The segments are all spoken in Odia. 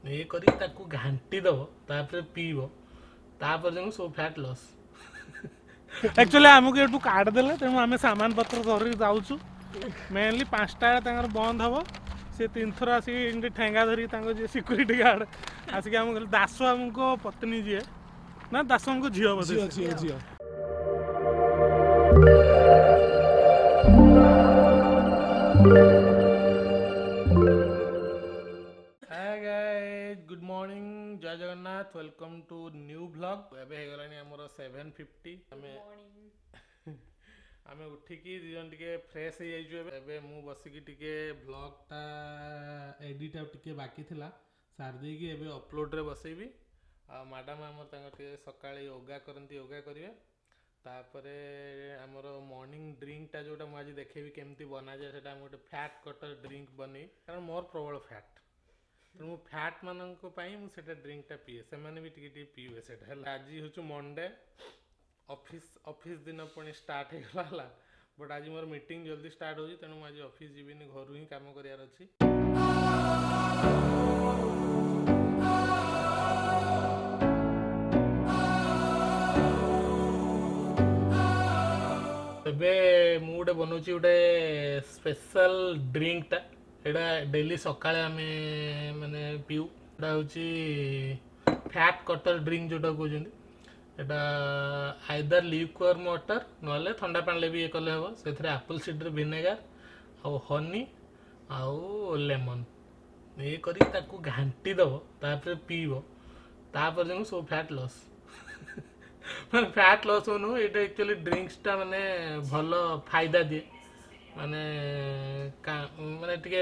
ଇଏ କରିକି ତାକୁ ଘାଣ୍ଟି ଦେବ, ତାପରେ ପିଇବ, ତାପରେ ଯାଇକି ସବୁ ଫ୍ୟାଟ୍ ଲସ୍। ଆକ୍ଚୁଆଲି ଆମକୁ ଏଠୁ କାର୍ଡ଼ ଦେଲେ, ତେଣୁ ଆମେ ସାମାନ ପତ୍ର ଧରିକି ଯାଉଛୁ। ମେନଲି 5ଟା ବେଳେ ତାଙ୍କର ବନ୍ଦ ହେବ। ସେ 3 ଥର ଆସିକି ଏମିତି ଠେଙ୍ଗା ଧରିକି ତାଙ୍କ ଯିଏ ସିକ୍ୟୁରିଟି ଗାର୍ଡ଼ ଆସିକି ଆମକୁ କହିଲେ, ଦାସ ବାବୁଙ୍କ ପତ୍ନୀ ଯିଏ ନା ଦାସଙ୍କ ଝିଅ ବୋଧେ ଝିଅ ଝିଅ ଝିଅ। Hi guys, good morning, Jay Jagannath, welcome to new vlog. ଏବେ ହେଇଗଲାଣି ଆମର 7:50। ଆମେ ଉଠିକି ଦୁଇ ଜଣ ଟିକେ ଫ୍ରେଶ୍ ହେଇଯାଇଛୁ। ଏବେ ଏବେ ମୁଁ ବସିକି ଟିକେ ଭ୍ଲଗ୍ଟା ଏଡ଼ିଟ୍ ଆଉ ଟିକେ ବାକି ଥିଲା, ସାରି ଦେଇକି ଏବେ ଅପଲୋଡ଼ରେ ବସେଇବି। ଆଉ ମ୍ୟାଡ଼ାମ୍ ଆମର ତାଙ୍କର ଟିକେ ସକାଳେ ୟୋଗା କରନ୍ତି, ୟୋଗା କରିବେ। ତାପରେ ଆମର ମର୍ଣ୍ଣିଂ ଡ୍ରିଙ୍କଟା ଯେଉଁଟା ମୁଁ ଆଜି ଦେଖେଇବି କେମିତି ବନାଯାଏ, ସେଇଟା ମୁଁ ଗୋଟେ ଫ୍ୟାଟ୍ କଟର ଡ୍ରିଙ୍କ ବନେଇ, କାରଣ ମୋର ପ୍ରବଳ ଫ୍ୟାଟ୍। ତେଣୁ ମୁଁ ଫ୍ୟାଟ୍ ମାନଙ୍କ ପାଇଁ ମୁଁ ସେଇଟା ଡ୍ରିଙ୍କଟା ପିଏ, ସେମାନେ ବି ଟିକେ ଟିକେ ପିଇବେ ସେଇଟା। ହେଲା, ଆଜି ହେଉଛି ମଣ୍ଡେ, ଅଫିସ୍ ଅଫିସ୍ ଦିନ ପୁଣି ଷ୍ଟାର୍ଟ ହେଇଗଲା। ହେଲା, ବଟ୍ ଆଜି ମୋର ମିଟିଂ ଜଲ୍ଦି ଷ୍ଟାର୍ଟ ହେଉଛି, ତେଣୁ ମୁଁ ଆଜି ଅଫିସ୍ ଯିବିନି, ଘରୁ ହିଁ କାମ କରିବାର ଅଛି। ଏବେ ମୁଁ ଗୋଟେ ବନଉଛି ଗୋଟେ ସ୍ପେଶାଲ ଡ୍ରିଙ୍କଟା। ଏଇଟା ଡେଲି ସକାଳେ ଆମେ ମାନେ ପିଉ। ଏଇଟା ହେଉଛି ଫ୍ୟାଟ୍ କଟର ଡ୍ରିଙ୍କ ଯେଉଁଟା କହୁଛନ୍ତି। ଏଇଟା ଆଇଦର ଲ୍ୟୁକୱାର୍ମ ୱାଟର, ନହେଲେ ଥଣ୍ଡା ପାଣିରେ ବି ଇଏ କଲେ ହେବ। ସେଥିରେ ଆପଲ୍ ସିଡର୍ ଭିନେଗାର ଆଉ ହନି ଆଉ ଲେମନ୍ ଇଏ କରିକି ତାକୁ ଘାଣ୍ଟି ଦେବ, ତାପରେ ପିଇବ, ତାପରେ ଯାଇକି ସବୁ ଫ୍ୟାଟ୍ ଲସ୍। ମାନେ ଫ୍ୟାଟ୍ ଲସ୍ ହଉନୁ, ଏଇଟା ଆକ୍ଚୁଆଲି ଡ୍ରିଙ୍କସଟା ମାନେ ଭଲ ଫାଇଦା ଦିଏ। ମାନେ ମାନେ ଟିକେ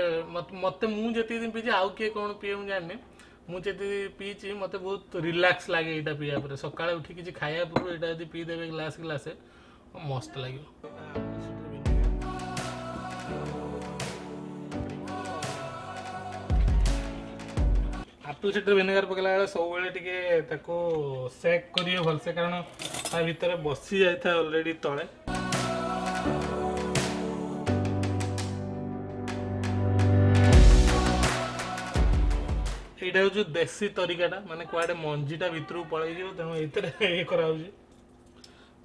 ମତେ ମୁଁ ଯେତିକି ଦିନ ପିଇଛି, ଆଉ କିଏ କ'ଣ ପିଏ ମୁଁ ଜାଣିନି, ମୁଁ ଯେତିକି ପିଇଛି ମୋତେ ବହୁତ ରିଲାକ୍ସ ଲାଗେ ଏଇଟା ପିଇବା ପରେ। ସକାଳେ ଉଠି କିଛି ଖାଇବା ପୂର୍ବରୁ ଏଇଟା ଯଦି ପିଇଦେବେ ଗ୍ଲାସ୍ ଗ୍ଲାସେ, ମସ୍ତ ଲାଗିବ। ଆପଲ୍ ସିଡର୍ ଭିନେଗାର ପକେଇଲା ବେଳେ ସବୁବେଳେ ଟିକେ ତାକୁ ସେକ୍ କରିବେ ଭଲସେ, କାରଣ ତା ଭିତରେ ବସି ଯାଇଥାଏ ଅଲରେଡ଼ି ତଳେ। ଏଇଟା ହେଉଛି ଦେଶୀ ତରିକାଟା, ମାନେ କୁଆଡ଼େ ମଞ୍ଜିଟା ଭିତରକୁ ପଳେଇଯିବ, ତେଣୁ ଏଇଥିରେ ଇଏ କରାହେଉଛି।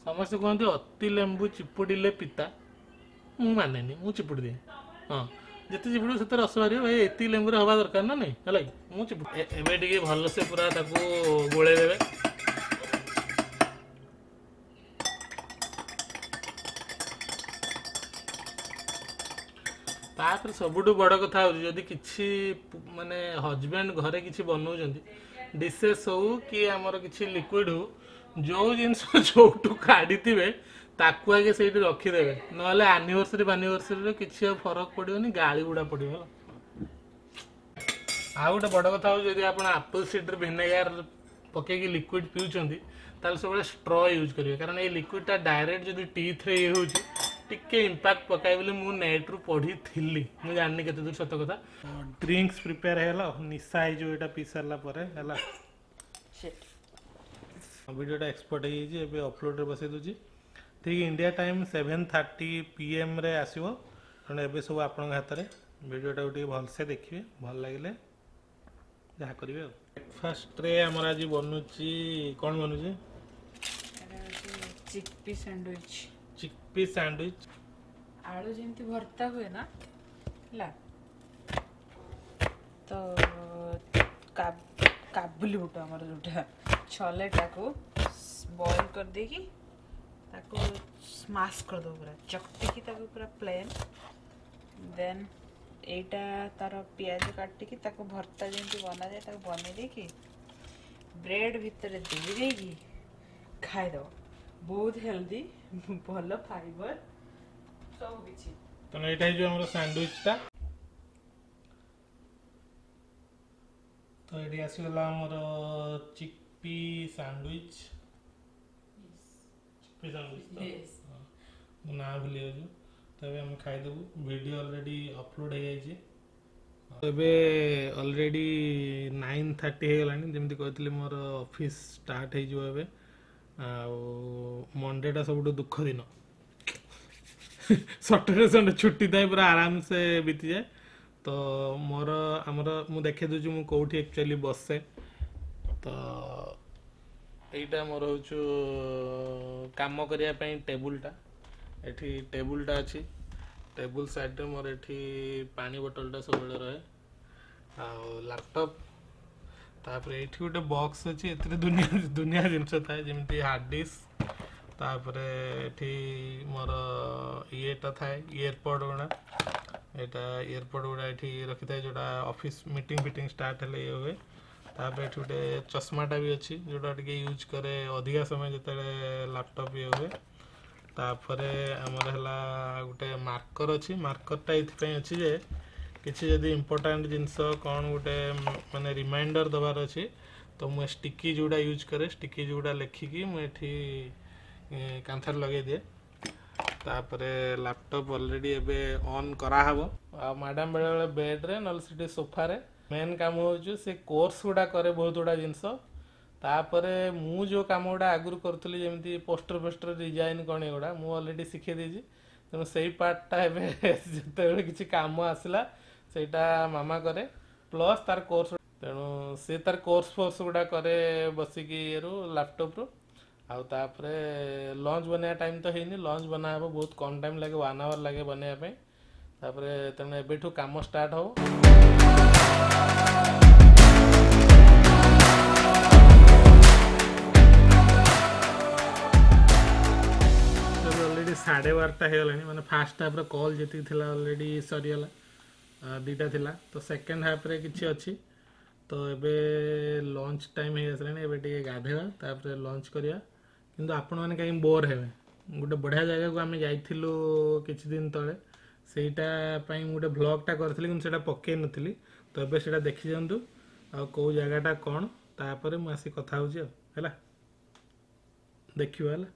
ସମସ୍ତେ କୁହନ୍ତି ଅତି ଲେମ୍ବୁ ଚିପୁଡ଼ିଲେ ପିତା। ମୁଁ ମାନେନି, ମୁଁ ଚିପୁଡ଼ି ଦିଏ। ହଁ, ଯେତେ ଚିପୁଡ଼ିବ ସେତେ ରସ ବାହାରିବ ଭାଇ। ଏତିକି ଲେମ୍ବୁରେ ହେବା ଦରକାର ନା ନାଇଁ, ହେଲା କି? ମୁଁ ଚିପୁଡ଼ି ଏବେ ଟିକେ ଭଲସେ ପୁରା ତାକୁ ଗୋଳେଇ ଦେବେ। ତାପରେ ସବୁଠୁ ବଡ଼ କଥା ହେଉଛି, ଯଦି କିଛି ମାନେ ହଜବେଣ୍ଡ ଘରେ କିଛି ବନଉଛନ୍ତି, ଡିସେସ୍ ହଉ କି ଆମର କିଛି ଲିକ୍ୱିଡ଼ ହଉ, ଯେଉଁ ଜିନିଷ ଯୋଉଠୁ କାଢ଼ିଥିବେ ତାକୁ ଆଗେ ସେଇଠି ରଖିଦେବେ। ନହେଲେ ଆନିଭର୍ସରୀ ଫାନିଭର୍ସରୀରେ କିଛି ଆଉ ଫରକ ପଡ଼ିବନି, ଗାଳି ଗୁଡ଼ା ପଡ଼ିବ। ହେଲା, ଆଉ ଗୋଟେ ବଡ଼ କଥା ହେଉଛି, ଯଦି ଆପଣ ଆପଲ୍ ସିଡର୍ ଭିନେଗାର ପକେଇକି ଲିକ୍ୱିଡ଼ ପିଉଛନ୍ତି, ତାହେଲେ ସବୁବେଳେ ଷ୍ଟ୍ର ୟୁଜ୍ କରିବେ, କାରଣ ଏଇ ଲିକ୍ୱିଡ଼ଟା ଡାଇରେକ୍ଟ ଯଦି ଟିଥ୍ରେ ଇଏ ହେଉଛି, ଟିକେ ଇମ୍ପାକ୍ଟ ପକାଏ ବୋଲି ମୁଁ ନେଟ୍ରୁ ପଢ଼ିଥିଲି। ମୁଁ ଜାଣିନି କେତେ ଦୂର ସତ କଥା। ଡ୍ରିଙ୍କସ୍ ପ୍ରିପେୟାର ହେଇଗଲା, ନିଶା ହେଇଯିବ ଏଇଟା ପିଇ ସାରିଲା ପରେ। ହେଲା, ଭିଡ଼ିଓଟା ଏକ୍ସପୋର୍ଟ ହେଇଯାଇଛି, ଏବେ ଅପଲୋଡ଼ରେ ବସେଇ ଦେଉଛି। ଠିକ୍ ଇଣ୍ଡିଆ ଟାଇମ୍ 7:30 ପିଏମ୍ରେ ଆସିବ। ତେଣୁ ଏବେ ସବୁ ଆପଣଙ୍କ ହାତରେ, ଭିଡ଼ିଓଟାକୁ ଟିକେ ଭଲସେ ଦେଖିବେ, ଭଲ ଲାଗିଲେ ଯାହା କରିବେ। ଆଉ ବ୍ରେକଫାଷ୍ଟରେ ଆମର ଆଜି ବନୁଛି, କ'ଣ ବନୁଛି? ଏଇଟା ହେଉଛି ଚିକପି ସ୍ୟାଣ୍ଡୱିଚ୍। ଚିକପି ସ୍ୟାଣ୍ଡୱିଚ୍। ଆଳୁ ଯେମିତି ଭର୍ତ୍ତା ହୁଏ ନା, ହେଲା ତ କାବୁଲି ବୁଟ ଆମର ଯୋଉଟା ଛଲେଟାକୁ ବଏଲ୍ କରିଦେଇକି ତାକୁ ସ୍ମାସ୍ କରିଦେବୁ, ପୁରା ଚକଟିକି ତାକୁ ପୁରା ପ୍ଲେନ୍। ଦେନ୍ ଏଇଟା ତାର ପିଆଜ କାଟିକି ତାକୁ ଭର୍ତ୍ତା ଯେମିତି ବନାଯାଏ ତାକୁ ବନେଇ ଦେଇକି ବ୍ରେଡ୍ ଭିତରେ ଦେଇ ଦେଇକି ଖାଇଦେବ। ବହୁତ ହେଲ୍ଦି, ଭଲ ଫାଇବର, ସବୁ କିଛି। ତେଣୁ ଏଇଟା ହେଇଯିବ ଆମର ସ୍ୟାଣ୍ଡୱିଚଟା। ତ ଏଠି ଆସିଗଲା ଆମର ଚିକପି ସ୍ୟାଣ୍ଡୱିଚ୍। ଚିକପି ସ୍ୟାଣ୍ଡୱିଚ୍ ତ? Yes. ହଁ, ମୁଁ ନାଁ ଭୁଲି ଯାଉଛି। ତ ଏବେ ଆମେ ଖାଇଦେବୁ। ଭିଡ଼ିଓ ଅଲରେଡ଼ି ଅପଲୋଡ଼ ହେଇଯାଇଛି। ଏବେ ଅଲରେଡ଼ି 9:30 ହେଇଗଲାଣି। ଯେମିତି କହିଥିଲି, ମୋର ଅଫିସ୍ ଷ୍ଟାର୍ଟ ହେଇଯିବ ଏବେ। ଆଉ ମଣ୍ଡେଟା ସବୁଠୁ ଦୁଃଖ ଦିନ। ସଟରଡେ ସଣ୍ଡେ ଛୁଟି ଥାଏ, ପୁରା ଆରାମସେ ବିତିଯାଏ। ତ ତ ମୋର ଆମର ମୁଁ ଦେଖେଇ ଦେଉଛି ମୁଁ କେଉଁଠି ଆକ୍ଚୁଆଲି ବସେ। ତ ଏଇଟା ମୋର ହେଉଛି କାମ କରିବା ପାଇଁ ଟେବୁଲଟା। ଏଠି ଟେବୁଲଟା ଅଛି, ଟେବୁଲ ସାଇଡ଼ରେ ମୋର ଏଠି ପାଣି ବୋଟଲଟା ସବୁବେଳେ ରହେ ଆଉ ଲାପଟପ୍। ତାପରେ ଏଇଠି ଗୋଟେ ବକ୍ସ ଅଛି, ଏଥିରେ ଦୁନିଆ ଦୁନିଆ ଜିନିଷ ଥାଏ, ଯେମିତି ହାର୍ଡ଼ ଡିସ୍କ। ତାପରେ ଏଠି ମୋର ଇଏଟା ଥାଏ, ଇୟରପଡ଼ ଗୁଡ଼ା। ଏଇଟା ଇୟରପଡ଼ ଗୁଡ଼ା ଏଠି ରଖିଥାଏ, ଯେଉଁଟା ଅଫିସ୍ ମିଟିଂ ଫିଟିଂ ଷ୍ଟାର୍ଟ ହେଲେ ଇଏ ହୁଏ। ତାପରେ ଏଠି ଗୋଟେ ଚଷମାଟା ବି ଅଛି, ଯେଉଁଟା ଟିକେ ୟୁଜ୍ କରେ ଅଧିକା ସମୟ ଯେତେବେଳେ ଲାପଟପ୍ ଇଏ ହୁଏ। ତାପରେ ଆମର ହେଲା ଗୋଟେ ମାର୍କର ଅଛି। ମାର୍କରଟା ଏଇଥିପାଇଁ ଅଛି ଯେ କିଛି ଯଦି ଇମ୍ପୋର୍ଟାଣ୍ଟ ଜିନିଷ କ'ଣ ଗୋଟେ ମାନେ ରିମାଇଣ୍ଡର ଦେବାର ଅଛି, ତ ମୁଁ ଷ୍ଟିକି ଯେଉଁଟା ୟୁଜ୍ କରେ, ଷ୍ଟିକି ଯେଉଁଟା ଲେଖିକି ମୁଁ ଏଠି କାନ୍ଥରେ ଲଗେଇ ଦିଏ। ତାପରେ ଲାପଟପ୍ ଅଲରେଡ଼ି ଏବେ ଅନ୍ କରାହେବ। ଆଉ ମ୍ୟାଡ଼ାମ୍ ବେଳେବେଳେ ବେଡ଼୍ରେ ନହେଲେ ସେଠି ସୋଫାରେ। ମେନ୍ କାମ ହେଉଛି ସେ କୋର୍ସ ଗୁଡ଼ା କରେ ବହୁତ ଗୁଡ଼ା ଜିନିଷ। ତାପରେ ମୁଁ ଯେଉଁ କାମ ଗୁଡ଼ା ଆଗରୁ କରୁଥିଲି, ଯେମିତି ପୋଷ୍ଟର ଫୋଷ୍ଟର ଡିଜାଇନ୍ କ'ଣ ଏଗୁଡ଼ା ମୁଁ ଅଲରେଡ଼ି ଶିଖେଇ ଦେଇଛି। ତେଣୁ ସେଇ ପାର୍ଟଟା ଏବେ ଯେତେବେଳେ କିଛି କାମ ଆସିଲା ସେଇଟା ମାମା କରେ, ପ୍ଲସ୍ ତାର କୋର୍ସ। ତେଣୁ ସେ ତାର କୋର୍ସ ଫୋର୍ସ ଗୁଡ଼ା କରେ ବସିକି ଇଏରୁ ଲାପଟପ୍ରୁ। ଆଉ ତାପରେ ଲଞ୍ଚ ବନେଇବା ଟାଇମ୍ ତ ହେଇନି, ଲଞ୍ଚ ବନା ହେବ, ବହୁତ କମ୍ ଟାଇମ୍ ଲାଗେ, 1 ଆୱାର ଲାଗେ ବନେଇବା ପାଇଁ। ତାପରେ ତେଣୁ ଏବେଠୁ କାମ ଷ୍ଟାର୍ଟ ହେବ। ଅଲରେଡ଼ି 12:30 ହେଇଗଲାଣି, ମାନେ ଫାର୍ଷ୍ଟ ହାଫ୍ର କଲ୍ ଯେତିକି ଥିଲା ଅଲରେଡ଼ି ସରିଗଲା, 2ଟା ଥିଲା। ତ ସେକେଣ୍ଡ ହାଫ୍ରେ କିଛି ଅଛି। ତ ଏବେ ଲଞ୍ଚ ଟାଇମ୍ ହେଇ ଆସିଲାଣି, ଏବେ ଟିକେ ଗାଧେଇବା ତାପରେ ଲଞ୍ଚ କରିବା। କିନ୍ତୁ ଆପଣମାନେ କାହିଁକି ବୋର୍ ହେବେ, ଗୋଟେ ବଢ଼ିଆ ଜାଗାକୁ ଆମେ ଯାଇଥିଲୁ କିଛି ଦିନ ତଳେ, ସେଇଟା ପାଇଁ ମୁଁ ଗୋଟେ ଭ୍ଲଗ୍ଟା କରିଥିଲି କିନ୍ତୁ ସେଇଟା ପକେଇ ନଥିଲି। ତ ଏବେ ସେଇଟା ଦେଖିଦିଅନ୍ତୁ ଆଉ କେଉଁ ଜାଗାଟା କ'ଣ, ତାପରେ ମୁଁ ଆସିକି କଥା ହେଉଛି ଆଉ ହେଲା, ଦେଖିବା ହେଲା।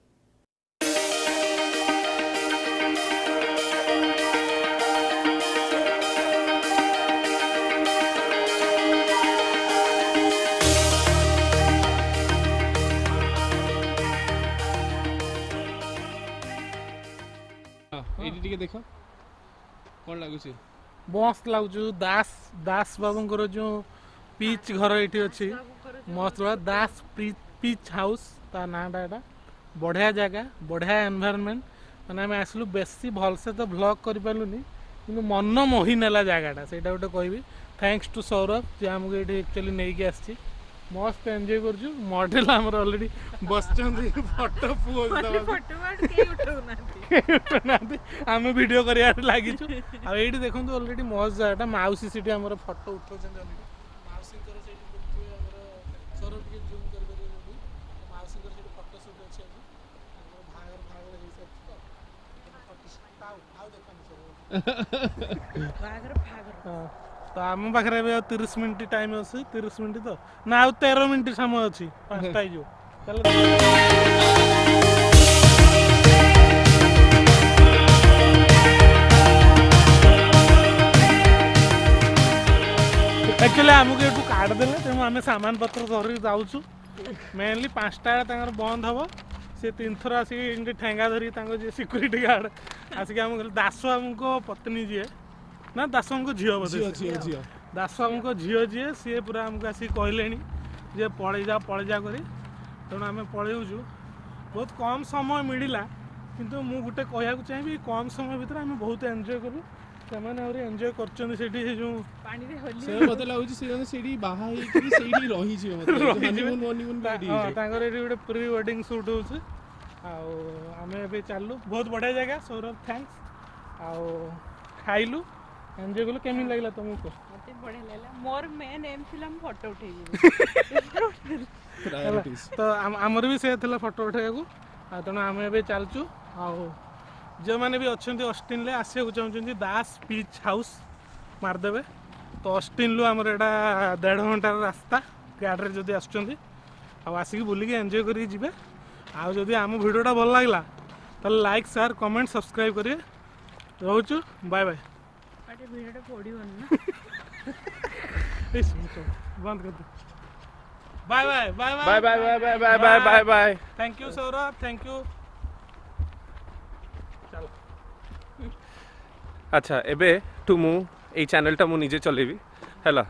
ଏଇଠି ଟିକେ ଦେଖ କ'ଣ ଲାଗୁଛି? ମସ୍ତ ଲାଗୁଛି। ଦାସ ଦାସ ବାବୁଙ୍କର ଯେଉଁ ପିଚ୍ ଘର ଏଇଠି ଅଛି, ମସ୍ତ ଦାସ ପିଚ୍ ହାଉସ୍ ତା ନାଁଟା। ଏଇଟା ବଢ଼ିଆ ଜାଗା, ବଢ଼ିଆ ଏନଭାୟରନମେଣ୍ଟ। ମାନେ ଆମେ ଆସିଲୁ, ବେଶୀ ଭଲସେ ତ ଭ୍ଲଗ୍ କରିପାରିଲୁନି, କିନ୍ତୁ ମନ ମୋହି ନେଲା ଜାଗାଟା, ସେଇଟା ଗୋଟେ କହିବି। Thanks two Saurabh ଯିଏ ଆମକୁ ଏଇଠି ଆକ୍ଚୁଆଲି ନେଇକି ଆସିଛି। ମସ୍ତ ଏନ୍ଜୟ କରୁଛୁ। ମଡେଲ ଆମର ଅଲରେଡ଼ି ବସିଛନ୍ତି ଫଟୋ ପୋଜ୍ ଦେବାକୁ, ଉଠଉନାହାନ୍ତି, ଆମେ ଭିଡ଼ିଓ କରିବାରେ ଲାଗିଛୁ। ଆଉ ଏଇଠି ଦେଖନ୍ତୁ ଅଲରେଡ଼ି ମସ୍ତ ଜାଗାଟା। ମାଉସୀ ସେଠି ଆମର ଫଟୋ ଉଠାଉଛନ୍ତି ଅଲରେଡ଼ି। ମାଉସୀଙ୍କର ସେଇଠି ଦେଖିଥିବେ ଆମର, ସୌରଭ ଟିକେ ଜୁମ୍ କରିପାରିବେ ଯଦି, ମାଉସୀଙ୍କର ସେଠି ଫଟୋ ସୁଟ୍ ଅଛି ଆଜି, ତାଙ୍କର ବାହାଘର ଫାହାଘର ହେଇସାରିଛି ତ ଫଟୋ। ଆଉ ଦେଖନ୍ତୁ ସୌରଭ। ହଁ, ତ ଆମ ପାଖରେ ଏବେ ଆଉ 30 ମିନିଟ୍ ଟାଇମ୍ ଅଛି। 30 ମିନିଟ୍ ତ ନା, ଆଉ 13 ମିନିଟ୍ ସମୟ ଅଛି, 5ଟା ହେଇଯିବ। ତାହେଲେ ଆକ୍ଚୁଆଲି ଆମକୁ ଏଠୁ କାର୍ଡ଼ ଦେଲେ, ତେଣୁ ଆମେ ସାମାନ ପତ୍ର ଧରିକି ଯାଉଛୁ। ମେନଲି 5ଟା ବେଳେ ତାଙ୍କର ବନ୍ଦ ହେବ। ସେ 3 ଥର ଆସିକି ଏମିତି ଠେଙ୍ଗା ଧରିକି ତାଙ୍କ ଯିଏ ସିକ୍ୟୁରିଟି ଗାର୍ଡ଼ ଆସିକି ଆମକୁ କହିଲେ, ଦାସବାବୁଙ୍କ ପତ୍ନୀ ଯିଏ ନା ଦାସବାବୁଙ୍କ ଝିଅ ବୋଧେ, ଝିଅ, ଦାସବାବୁଙ୍କ ଝିଅ ଯିଏ, ସିଏ ପୁରା ଆମକୁ ଆସିକି କହିଲେଣି ଯେ ପଳେଇ ଯା ପଳେଇ ଯା କରି। ତେଣୁ ଆମେ ପଳେଇଛୁ। ବହୁତ କମ୍ ସମୟ ମିଳିଲା, କିନ୍ତୁ ମୁଁ ଗୋଟେ କହିବାକୁ ଚାହିଁବି, କମ୍ ସମୟ ଭିତରେ ଆମେ ବହୁତ ଏନ୍ଜୟ କଲୁ। ସେମାନେ ଆହୁରି ଏନ୍ଜୟ କରୁଛନ୍ତି ସେଠି ସେ ଯେଉଁ ପାଣିରେ ହୋଲି। ସେ ମତେ ଲାଗୁଛି ସେ ଜଣେ ସେଇଠି ବାହା ହେଇକି ସେଇଠି ରହିଯିବେ, ମତେ ରହିଯିବେ। ହନିମୁନ୍ ହନିମୁନ୍ ବି ଏଇଠି ହଁ, ହେଇଯିବ। ତାଙ୍କର ଏଠି ଗୋଟେ ପ୍ରି ୱେଡିଂ ସୁଟ୍ ହେଉଛି। ଆଉ ଆମେ ଏବେ ଚାଲିଲୁ, ବହୁତ ବଢ଼ିଆ ଜାଗା। ସୌରଭ thanks. ଆଉ ଖାଇଲୁ, ଏନ୍ଜୟ କଲୁ। କେମିତି ଲାଗିଲା ତମକୁ କୁହ? ମତେ ବଢିଆ ଲାଗିଲା। ମୋର ମେନ୍ ଏମ୍ ଥିଲା ମୁଁ ଫଟୋ ଉଠେଇବି। ପ୍ରାୟୋରିଟିସ୍। ତ ଆମର ବି ସେୟା ଥିଲା ଫଟୋ ଉଠାଇବାକୁ। ଆଉ ତେଣୁ ଆମେ ଏବେ ଚାଲୁଛୁ। ଆଉ ଯେଉଁମାନେ ବି ଅଛନ୍ତି ଅଷ୍ଟିନରେ ଆସିବାକୁ ଚାହୁଁଛନ୍ତି, ଦାସ ପିଚ୍ ହାଉସ୍ ମାରିଦେବେ। ତ ଅଷ୍ଟିନରୁ ଆମର ଏଇଟା 1.5 ଘଣ୍ଟାର ରାସ୍ତା ଗାଡ଼ିରେ ଯଦି ଆସୁଛନ୍ତି। ଆଉ ଆସିକି ବୁଲିକି ଏନ୍ଜୟ କରିକି ଯିବେ। ଆଉ ଯଦି ଆମ ଭିଡ଼ିଓଟା ଭଲ ଲାଗିଲା ତାହେଲେ ଲାଇକ୍, ସେୟାର, କମେଣ୍ଟ, ସବସ୍କ୍ରାଇବ୍ କରିବେ। ରହୁଛୁ, ବାଏ ବାଏ। ଭିଡ଼ିଓଟା ପଡ଼ିବନି ନା? ବନ୍ଦ କରିଦେ। Bye bye bye. Bye bye bye bye bye bye bye bye. Thank you Saurabh, thank you. ଚାଲ। ଆଚ୍ଛା, ଏବେ ଠୁ ମୁଁ ଏଇ ଚ୍ୟାନେଲଟା ମୁଁ ନିଜେ ଚଲେଇବି ହେଲା।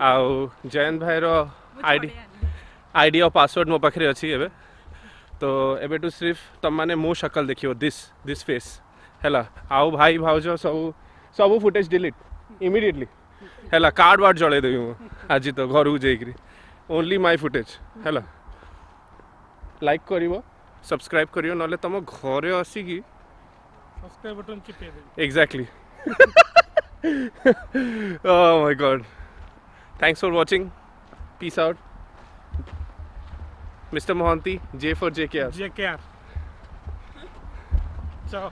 ଆଉ ଜୟନ୍ତ ଭାଇର ଆଇଡି ଆଉ ପାସୱାର୍ଡ଼ ମୋ ପାଖରେ ଅଛି ଏବେ। ତ ଏବେଠୁ ସିର୍ଫ ତମମାନେ ମୋ ଶକଲ ଦେଖିବ, this this face ହେଲା। ଆଉ ଭାଇ ଭାଉଜ ସବୁ ସବୁ ଫୁଟେଜ୍ ଡିଲିଟ୍ ଇମିଡ଼ିଏଟଲି ହେଲା। କାର୍ଡ଼ ବାର୍ଡ଼ ଜଳେଇଦେବି ମୁଁ ଆଜି ତ ଘରକୁ ଯାଇକିରି, ଓନ୍ଲି ମାଇ ଫୁଟେଜ୍ ହେଲା। ଲାଇକ୍ କରିବ, ସବସ୍କ୍ରାଇବ୍ କରିବ, ନହେଲେ ତମ ଘରେ ଆସିକି ସବସ୍କ୍ରାଇବ୍ ବଟନ୍ ଚିପେଇ ଦେବି। Exactly. Oh my god. Thanks for watching. Peace out. Mr. Mohanty, J for JKR. JKR. चलो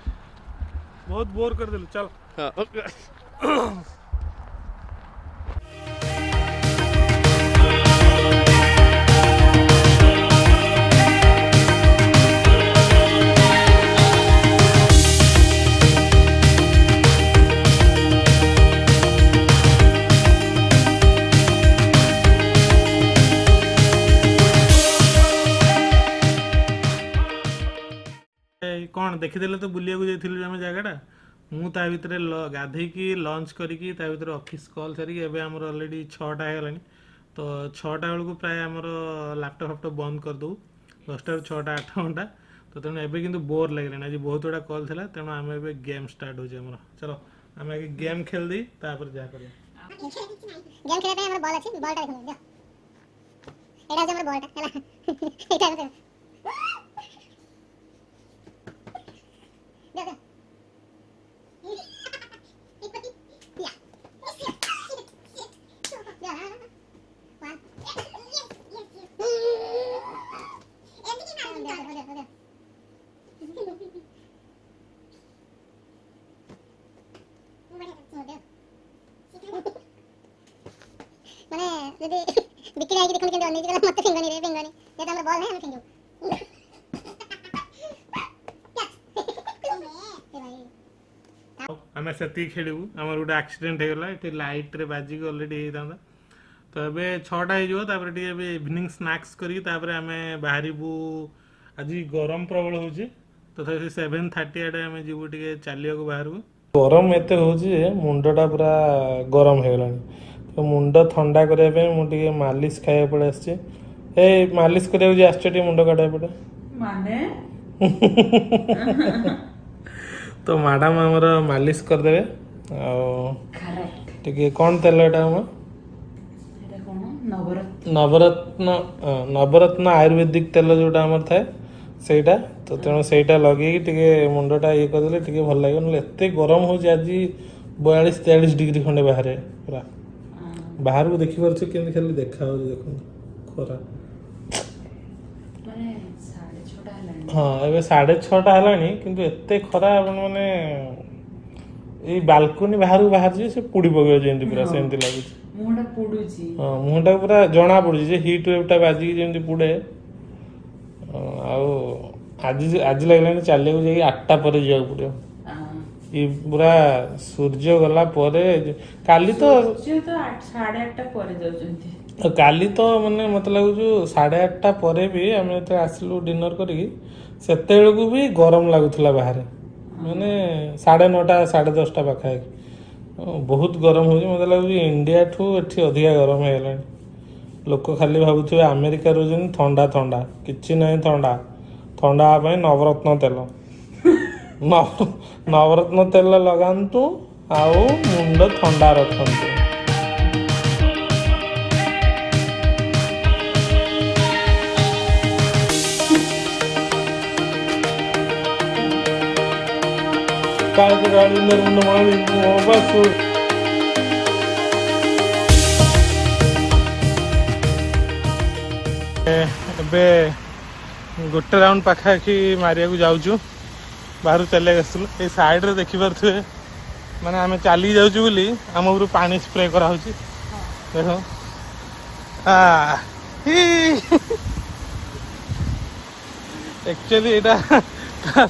बहुत बोर कर दिलु, चल। हाँ। କ'ଣ ଦେଖିଦେଲେ ତ ବୁଲିବାକୁ ଯାଇଥିଲୁ ଆମେ ଜାଗାଟା। ମୁଁ ତା ଭିତରେ ଗାଧେଇକି ଲଞ୍ଚ କରିକି ତା ଭିତରେ ଅଫିସ୍ କଲ୍ ସାରିକି ଏବେ ଆମର ଅଲରେଡ଼ି 6ଟା ହେଇଗଲାଣି। ତ 6ଟା ବେଳକୁ ପ୍ରାୟ ଆମର ଲାପଟପ୍ ଫାପଟପ୍ ବନ୍ଦ କରିଦେବୁ, 10ଟାରୁ 6ଟା 8 ଘଣ୍ଟା। ତ ତେଣୁ ଏବେ କିନ୍ତୁ ବୋର୍ ଲାଗିଲାଣି, ଆଜି ବହୁତ ଗୁଡ଼ା କଲ୍ ଥିଲା। ତେଣୁ ଆମେ ଏବେ ଗେମ୍ ଷ୍ଟାର୍ଟ ହେଉଛି ଆମର। ଚલો ଆମେ ଆଗେ ଗେମ୍ ଖେଳିଦେଇ ତାପରେ ଯାହା କରିବା। ଗେମ୍ ଖେଳିବା ପାଇଁ ଆମର ବଲ୍ ଅଛି, ବଲ୍ଟା ଦେଖନ୍ତୁ, ଦିଅ। ଏଇଟା ହେଉଛି ଆମର ବଲ୍ଟା ହେଲା। ଏଇଟା ହେଉଛି ଦିଅ, ଦିଅ। ମାନେ ଯଦି ବିକ୍ରି ହେଇକି ଦେଖନ୍ତୁ କେମିତି ଅନେଇଛି, କହିଲା ମତେ ଫିଙ୍ଗନି ରେ ଫିଙ୍ଗନି, ଯେହେତୁ ଆମର ବଲ୍ ନାହିଁ ଆମେ ଫିଙ୍ଗିବୁ। ଆମେ ସେତିକି ଖେଳିବୁ। ଆମର ଗୋଟେ ଆକ୍ସିଡେଣ୍ଟ ହେଇଗଲା ଏଠି, ଲାଇଟ୍ରେ ବାଜିକି ଅଲରେଡ଼ି ହେଇଥାନ୍ତା। ତ ଏବେ 6ଟା ହେଇଯିବ, ତାପରେ ଟିକେ ଏବେ ଇଭିନିଂ ସ୍ନାକ୍ସ କରିକି ତାପରେ ଆମେ ବାହାରିବୁ। ଆଜି ଗରମ ପ୍ରବଳ ହେଉଛି, ତଥାପି 7:30 ଆଡ଼େ ଆମେ ଯିବୁ ଟିକେ ଚାଲିବାକୁ ବାହାରକୁ। ଗରମ ଏତେ ହେଉଛି ଯେ ମୁଣ୍ଡଟା ପୁରା ଗରମ ହେଇଗଲାଣି। ତ ମୁଣ୍ଡ ଥଣ୍ଡା କରିବା ପାଇଁ ମୁଁ ଟିକେ ମାଲିସ ଖାଇବାକୁ ପଳେଇ ଆସିଛି। ଏଇ ମାଲିସ କରିବାକୁ ଯେ ଆସିଛ ଟିକେ ମୁଣ୍ଡ କାଟିବାକୁ ପଡ଼େ ମାନେ। ତ ମ୍ୟାଡ଼ାମ ଆମର ମାଲିସ କରିଦେବେ। ଆଉ ଟିକେ କ'ଣ ତେଲ ଏଇଟା ଆମ ନବରତ୍ନ, ନବରତ୍ନ ଆୟୁର୍ବେଦିକ ତେଲ ଯୋଉଟା ଆମର ଥାଏ ସେଇଟା। ତ ତେଣୁ ସେଇଟା ଲଗେଇକି ଟିକେ ମୁଣ୍ଡଟା ଇଏ କରିଦେଲେ ଟିକେ ଭଲ ଲାଗିବ। ନହେଲେ ଏତେ ଗରମ ହେଉଛି ଆଜି, 42 43 ଡିଗ୍ରୀ ଖଣ୍ଡେ ବାହାରେ। ପୁରା ବାହାରକୁ ଦେଖିପାରୁଛୁ କେମିତି ଖାଲି ଦେଖାଯାଉଛି, ଦେଖନ୍ତୁ ଖରା। ହଁ ଏବେ 6:30 ହେଲାଣି, କିନ୍ତୁ ଏତେ ଖରା ଆପଣ ମାନେ ଏଇ ବାଲକୋନି ବାହାରକୁ ବାହାରିଯିବେ ସେ ପୋଡ଼ି ପକେଇବ ଯେମିତି, ପୁରା ସେମିତି ଲାଗୁଛି। ମୁହଁଟା ପୋଡୁଛି। ହଁ ମୁହଁଟା ପୁରା ଜଣା ପଡୁଛି ଯେ ହିଟ୍ ୱେଭ୍ଟା ବାଜିକି ଯେମିତି ପୋଡ଼େ। ଆଉ ଆଜି ଆଜି ଲାଗିଲାଣି ଚାଲିବାକୁ ଯାଇକି 8ଟା ପରେ ଯିବାକୁ ପଡ଼ିବ। ଇ ପୁରା ସୂର୍ଯ୍ୟ ଗଲା ପରେ। କାଲି ତ 8:30 ପରେ ଯାଉଛନ୍ତି। କାଲି ତ ମାନେ ମତେ ଲାଗୁଛି 8:30 ପରେ ବି ଆମେ ଯେତେବେଳେ ଆସିଲୁ ଡିନର କରିକି ସେତେବେଳକୁ ବି ଗରମ ଲାଗୁଥିଲା ବାହାରେ, ମାନେ 9:30 10:30 ପାଖାପାଖି ବହୁତ ଗରମ ହେଉଛି। ମୋତେ ଲାଗୁଛି ଇଣ୍ଡିଆଠୁ ଏଠି ଅଧିକା ଗରମ ହେଇଗଲାଣି। ଲୋକ ଖାଲି ଭାବୁଥିବେ ଆମେରିକା ରହୁଛନ୍ତି ଥଣ୍ଡା ଥଣ୍ଡା, କିଛି ନାହିଁ ଥଣ୍ଡା। ଥଣ୍ଡା ହେବା ପାଇଁ ନବରତ୍ନ ତେଲ, ନବରତ୍ନ ତେଲ ଲଗାନ୍ତୁ ଆଉ ମୁଣ୍ଡ ଥଣ୍ଡା ରଖନ୍ତୁ। ଏବେ ଗୋଟେ ରାଉଣ୍ଡ ପାଖାପାଖି ମାରିବାକୁ ଯାଉଛୁ, ବାହାରୁ ଚାଲିବାକୁ ଆସିଥିଲୁ। ଏଇ ସାଇଡ଼ରେ ଦେଖିପାରୁଥିବେ ମାନେ ଆମେ ଚାଲିକି ଯାଉଛୁ ବୋଲି ଆମ ଉପରୁ ପାଣି ସ୍ପ୍ରେ କରାହେଉଛି। ଦେଖ ଆକ୍ଚୁଆଲି ଏଇଟା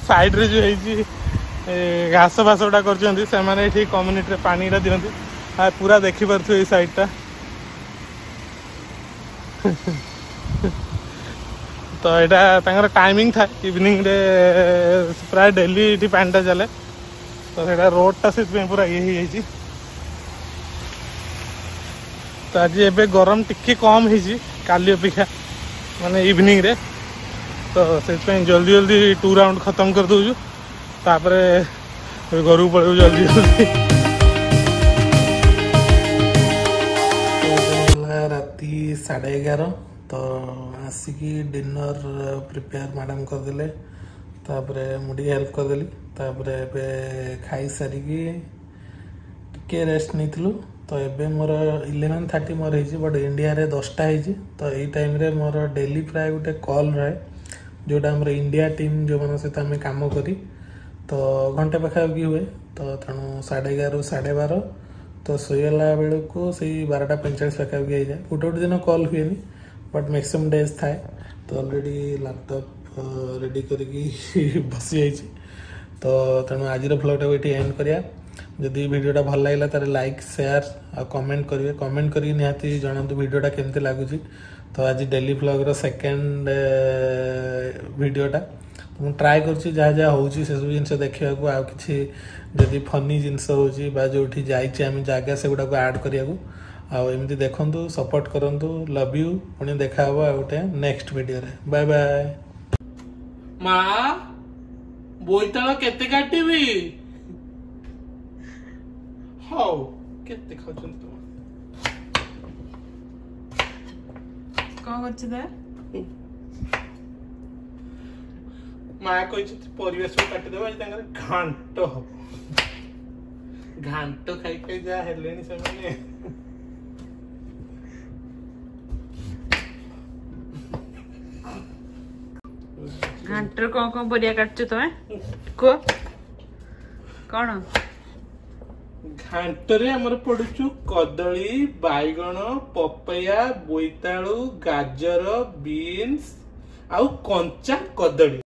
ସାଇଡ଼ରେ ଯୋଉ ହେଇଛି ଘାସ ଫାସ ଗୁଡ଼ା କରିଛନ୍ତି ସେମାନେ, ଏଠି କମ୍ୟୁନିଟିରେ ପାଣିଟା ଦିଅନ୍ତି। ପୁରା ଦେଖିପାରୁଥିବେ ଏଇ ସାଇଡ଼ଟା। ତ ଏଇଟା ତାଙ୍କର ଟାଇମିଂ ଥାଏ, ଇଭିନିଂରେ ପ୍ରାୟ ଡେଲି ଏଠି ପାଣିଟା ଚାଲେ। ତ ସେଇଟା ରୋଡ଼ଟା ସେଥିପାଇଁ ପୁରା ଇଏ ହେଇଯାଇଛି। ତ ଆଜି ଏବେ ଗରମ ଟିକେ କମ୍ ହେଇଛି କାଲି ଅପେକ୍ଷା, ମାନେ ଇଭିନିଂରେ। ତ ସେଥିପାଇଁ ଜଲ୍ଦି ଜଲ୍ଦି 2 ରାଉଣ୍ଡ ଖତମ କରିଦେଉଛୁ, ତାପରେ ଘରକୁ ପଳେଇବୁ ଜଲ୍ଦି ଜଲ୍ଦି। ରାତି 11:30। ତ ଆସିକି ଡିନର ପ୍ରିପେୟାର ମ୍ୟାଡ଼ାମ୍ କରିଦେଲେ, ତାପରେ ମୁଁ ଟିକେ ହେଲ୍ପ କରିଦେଲି। ତାପରେ ଏବେ ଖାଇସାରିକି ଟିକେ ରେଷ୍ଟ ନେଇଥିଲୁ। ତ ଏବେ ମୋର 11:30 ମୋର ହେଇଛି, ବଟ୍ ଇଣ୍ଡିଆରେ 10ଟା ହେଇଛି। ତ ଏଇ ଟାଇମ୍ରେ ମୋର ଡେଲି ପ୍ରାୟ ଗୋଟେ କଲ୍ ରହେ, ଯେଉଁଟା ଆମର ଇଣ୍ଡିଆ ଟିମ୍ ଯେଉଁମାନଙ୍କ ସହିତ ଆମେ କାମ କରି, ତ ଘଣ୍ଟେ ପାଖାପାଖି ହୁଏ। ତ ତେଣୁ 11:30ରୁ 12:30, ତ ଶୋଇଲା ବେଳକୁ ସେଇ 12:45 ପାଖାପାଖି ହେଇଯାଏ। ଗୋଟେ ଗୋଟେ ଦିନ କଲ୍ ହୁଏନି, ବଟ୍ ମ୍ୟାକ୍ସିମମ୍ ଡେଜ୍ ଥାଏ। ତ ଅଲରେଡ଼ି ଲାପଟପ୍ ରେଡ଼ି କରିକି ବସିଯାଇଛି। ତ ତେଣୁ ଆଜିର ଭ୍ଲଗ୍ଟାକୁ ଏଠି ଏଣ୍ଡ କରିବା। ଯଦି ଭିଡ଼ିଓଟା ଭଲ ଲାଗିଲା ତାହେଲେ ଲାଇକ୍, ସେୟାର ଆଉ କମେଣ୍ଟ କରିବେ। କମେଣ୍ଟ କରିକି ନିହାତି ଜଣାନ୍ତୁ ଭିଡ଼ିଓଟା କେମିତି ଲାଗୁଛି। ତ ଆଜି ଡେଲି ଭ୍ଲଗ୍ର ସେକେଣ୍ଡ ଭିଡ଼ିଓଟା ମୁଁ ଟ୍ରାଏ କରୁଛି ଯାହା ଯାହା ହେଉଛି ସେସବୁ ଜିନିଷ ଦେଖିବାକୁ, ଆଉ କିଛି ଯଦି ଫନି ଜିନିଷ ହେଉଛି ବା ଯେଉଁଠି ଯାଇଛି ଆମେ ଜାଗା ସେଗୁଡ଼ାକୁ ଆଡ଼୍ କରିବାକୁ। ଆଉ ଏମିତି ଦେଖନ୍ତୁ, ସପୋର୍ଟ କରନ୍ତୁ। Love you. ପୁଣି ଦେଖା ହେବ ଆଉ ଗୋଟେ ନେକ୍ସଟ ଭିଡ଼ିଓରେ। Bye bye. ମା, ବୋଇତାଳ କେତେ କାଟିବି? ହଉ, କେତେ ଖାଉଛନ୍ତି ତୁମ? କଣ କରୁଛୁ ଦା? ମା କହିଛନ୍ତି ପରିବା ସବୁ କାଟିଦେବା, ଆଜି ତାଙ୍କର ଘାଣ୍ଟ ହବ। ଘାଣ୍ଟ ଖାଇ ଖାଇ ଯାହା ହେଲେଣି ସେମାନେ। ଘାଣ୍ଟରେ କଣ କଣ ପରିବା କାଟୁଛ ତମେ କୁହ କଣ? ଘାଣ୍ଟରେ ଆମର ପଡୁଛୁ କଦଳୀ, ବାଇଗଣ, ପପେୟା, ବୋଇତାଳୁ, ଗାଜର, ବିନ୍ସ ଆଉ କଞ୍ଚା କଦଳୀ।